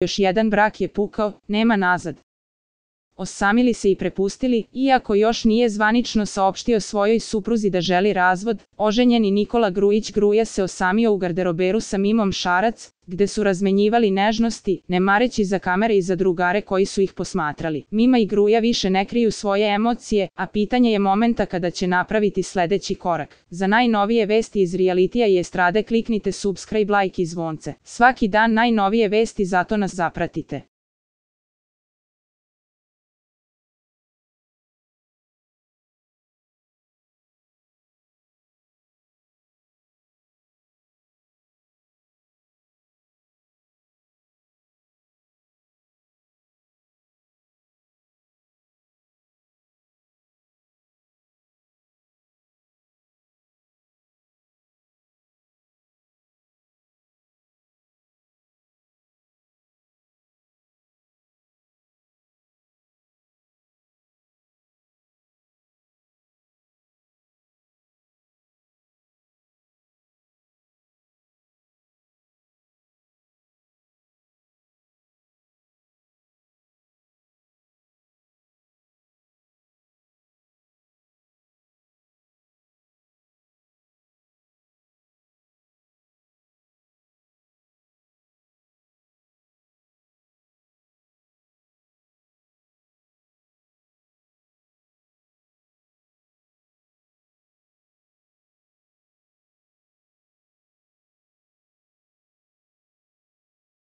Još jedan brak je pukao, nema nazad. Osamili se i prepustili, iako još nije zvanično saopštio svojoj supruzi da želi razvod, oženjeni Nikola Grujić Gruja se osamio u garderoberu sa Mimom Šarac, gde su razmenjivali nežnosti, ne mareći za kamere i za drugare koji su ih posmatrali. Mima i Gruja više ne kriju svoje emocije, a pitanje je momenta kada će napraviti sledeći korak. Za najnovije vesti iz realitija i estrade kliknite subscribe, like i zvonce. Svaki dan najnovije vesti, zato nas zapratite.